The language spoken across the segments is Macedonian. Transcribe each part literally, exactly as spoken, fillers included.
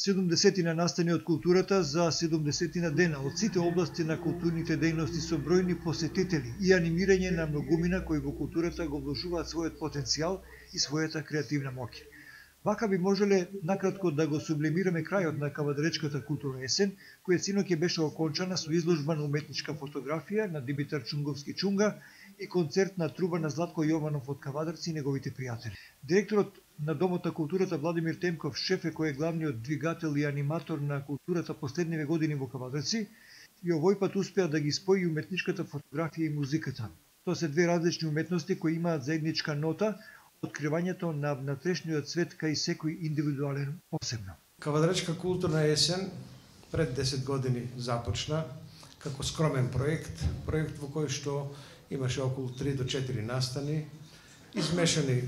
седумдесетина настани од културата за седумдесетина дена од сите области на културните дејности со бројни посетители и анимирање на многумина кои во културата го вложуваат својот потенцијал и својата креативна моќ. Вака би можеле накратко да го сублимираме крајот на Кавадаречката културна есен, која синоќ беше окончана со изложба на уметничка фотографија на Димитар Чунговски Чунга и концерт на труба на Златко Јованов од Кавадарци и неговите пријатели. Директорот на Домот на културата Владимир Темков Шефе, кој е главниот двигател и аниматор на културата последниве години во Кавадарци, и овој пат успеа да ги спои уметничката фотографија и музиката. Тоа се две различни уметности кои имаат заедничка нота, откривањето на внатрешниот свет кај секој индивидуален посебно. Кавадаречка културна есен пред десет години започна како скромен проект, проект во кој што имаше околу три до четири настани, измешани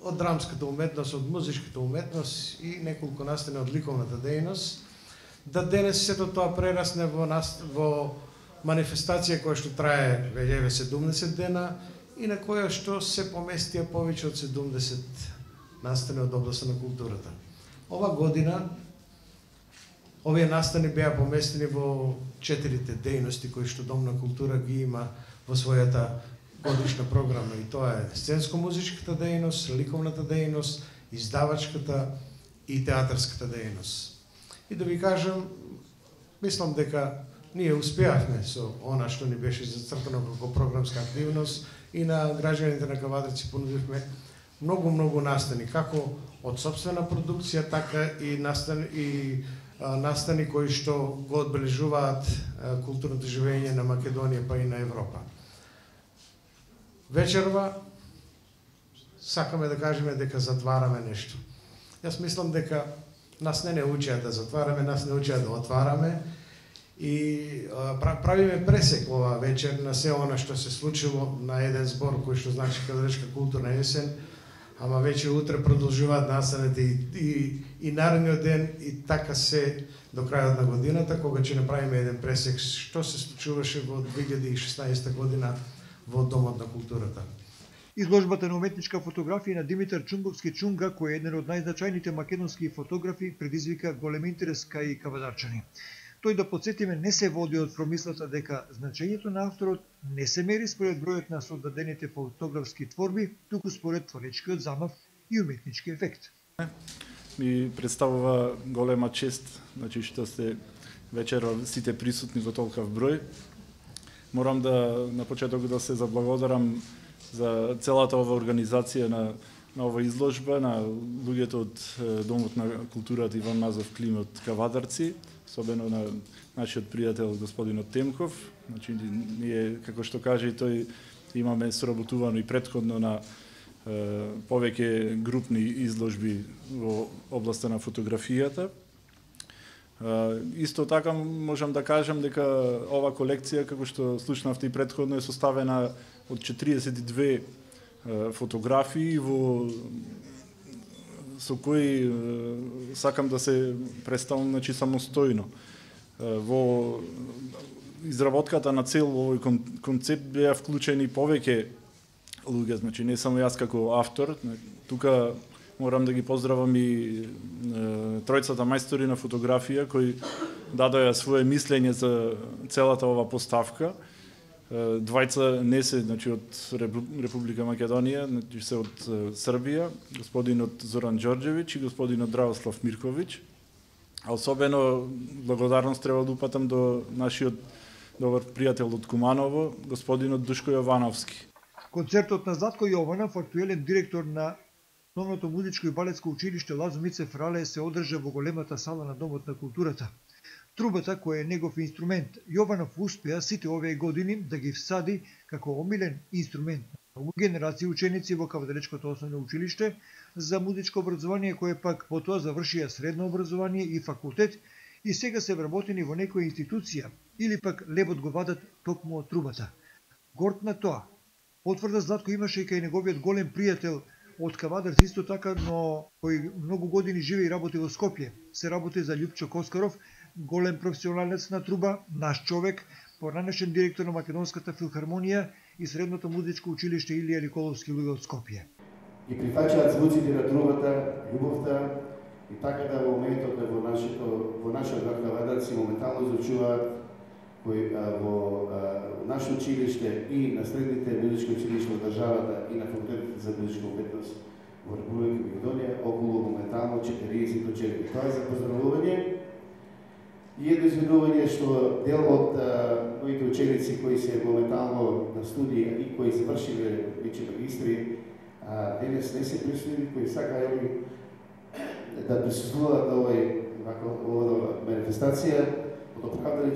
од драмската уметност, од музичката уметност и неколку настани од ликовната дејност, да денес сето тоа прерасне во, нас, во манифестација која што трае веќе седумдесет дена и на која што се поместија повеќе од седумдесет настани од областта на културата. Ова година овие настани беа поместени во четирите дејности кои што Дом на култура ги има во својата годишна програма, и тоа е сценско-музичката дејност, ликовната дејност, издавачката и театарската дејност. И да ви кажам, мислам дека ние успеавме со она што ни беше зацртано како програмска активност и на граѓаните на Кавадарци понудивме многу многу настани, како од сопствена продукција, така и настани и а, настани кои што го одбележуваат а, културното живење на Македонија па и на Европа. Вечерва сакаме да кажеме дека затвараме нешто. Јас мислам дека нас не не учеа да затвараме, нас не учеа да отвараме и а, правиме пресек ова вечер на се она што се случило на еден збор кој што значи Кавадаречка културна есен, ама веќе утре продолжуваат настаните и, и, и наредниот ден и така се до крајот на годината, кога ќе направиме еден пресек што се случуваше во две илјади и шеснаесета година во Домот на културата. Изложбата на уметничка фотографија на Димитар Чунговски Чунга, кој е еден од најзначајните македонски фотографи, предизвика голем интерес кај кавадарчани. Тој, да подсетиме, не се води од промислата дека значењето на авторот не се мери според бројот на создадените фотографски творби, туку според творечкиот замав и уметнички ефект. Ми представува голема чест, значи што сте вечера сите присутни во толкав број. Морам да на почеток да се заблагодарам за целата ова организација на, на ова изложба, на луѓето од Домот на културата Иван Мазов Клим од Кавадарци, особено на нашиот пријател господинот Темков. Значи, ние, како што каже и тој, имаме соработувано и претходно на е, повеќе групни изложби во областа на фотографијата. Uh, исто така можам да кажам дека ова колекција, како што слушнавте и претходно, е составена од четириесет и две uh, фотографии во со кои uh, сакам да се представам, значи, самостојно. Uh, во изработката на цел овој кон, концепт беа вклучени повеќе луѓе, значи не само јас како автор. Тука морам да ги поздравам и е, тројцата мајстори на фотографија кои дадоа свое мислење за целата ова поставка. Е, двајца не се, значи, од Република Македонија, значи се од е, Србија, господинот Зоран Ѓорѓевиќ и господинот Дравослав Мирковиќ. А особено благодарност треба да упатам до нашиот добар пријател од Куманово, господинот Душко Јовановски. Концертот на Златко Јованов, актуелен директор на Основното музичко и балетско училиште Лазо Мицев Рале, се одржа во големата сала на Домот на културата. Трубата, која е негов инструмент, Јованов успеа сите овие години да ги всади како омилен инструмент на многу генерации ученици во Кавадаречкото основно училиште за музичко образование, кое пак потоа завршија средно образование и факултет и сега се вработени во некоја институција или пак лебот го вадат токму од трубата. Горд на тоа, потврда Златко имаше и кај неговиот голем пријател од Кавадарци исто така, но кој многу години живе и работи во Скопје. Се работи за Љупчо Коскаров, голем професионалец на труба, наш човек, поранешен директор на Македонската филхармонија и Средното музичко училиште Илија Николовски луѓе од Скопје. И прифаќаат звуците на трубата, љубовта И така да во моментот во нашето во нашиот град Кавадарци моментално изучуваат кои во наше училиште и на средните музички училишта во државата и на факултетот за музичка уметност во Република Македонија околу моментално четириесет ученици. Тоа е за поздравување и едно изведување што дел од моите ученици кои се моментално на студија и кои завршиле веќе магистри, денес не се присутни, кои сакаеле да присуствуваат на оваа манифестација. Од оправдани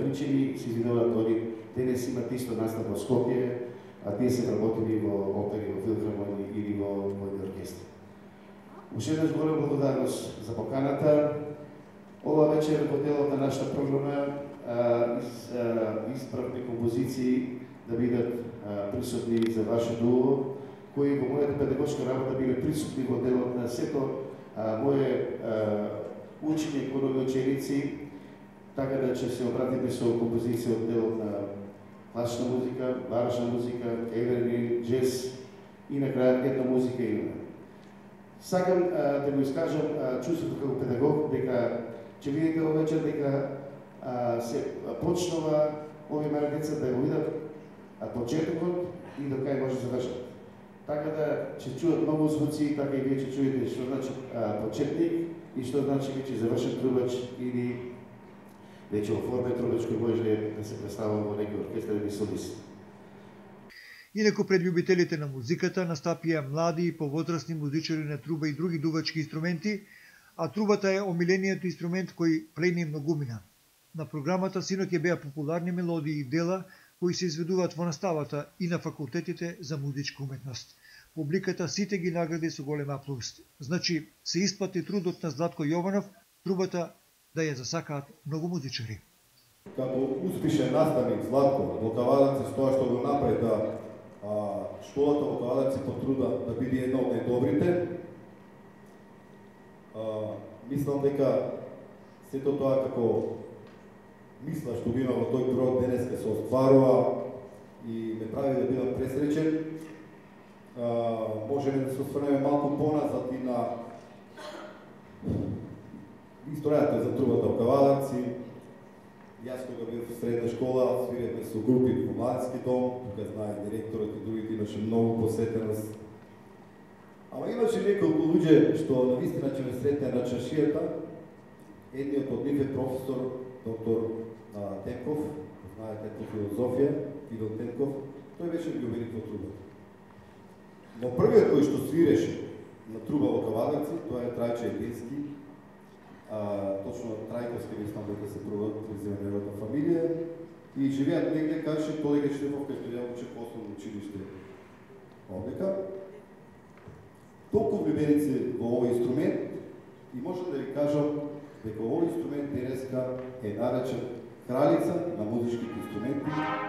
причини се извинуваат они денес имат исто настап во Скопје, а тие се работили во опери, во филхармонии или во војни оркестри. Уште еднаш голема благодарност за поканата. Ова вечер во делот на нашата програма избравме композиции да бидат присутни за вашето уво, кои во мојата педагошка работа биле присутни во делот на сето моје учење кон овие ученици, така да ќе се обратиме со композиција од делот на класична музика, барочна музика, еверни, джез и на крајот една музика имаме. Сакам а, да го искажам а, чувството како педагог дека ќе видите во вечер дека а, се почнува овие мали деца да го видат почетокот и до кај може да завршат. Така да ќе чуат многу звуци, така и вие ќе чуете што значи а, почетник и што значи веќе завршен трубач или веќе во форма трубач кој може да се представува во некој оркестар или солист. Инаку пред љубителите на музиката настапија млади и повозрасни музичари на труба и други дувачки инструменти, а трубата е омилениот инструмент кој плени многумина. На програмата синоќ беа популарни мелодии и дела кои се изведуваат во наставата и на факултетите за музичка уметност. Публиката сите ги награди со голем аплауз. Значи, се исплати трудот на Златко Јованов, трубата да ја засакаат многу музичари. Како успешен наставник Златко во Кавадарци, тоа што го направи да а, школата во Кавадарци потруда да биде една од најдобрите, а, мислам дека сето тоа како мисла што го има во тој проект денеска се остварува и ме прави да бидам пресречен. Uh, можеме да се осврнеме малку поназад и на историјата за трубата во Кавадарци. Јас кога бев в средна школа, свиревме со групи во младински дом, тука знае директорот и другите, имаше многу посетеност. Ама имаше неколку луѓе што навистина ќе ме сретне на чашијата. Едниот од нив е професор доктор uh, Тенков, знаете по филозофија, Идол Тенков, тој беше љубеник во трубата. Но првиот кој што свиреше на труба во Кавадарци, тоа е Трајче Едински, а, точно Трајковски, мислам дека се презима неговата фамилија, и живеат негде, каже колега Штефов, кај што ја уче по основно училиште овдека. Толку влюбеници во овој инструмент и можам да ви кажам дека овој инструмент денеска е наречен кралица на музичките инструменти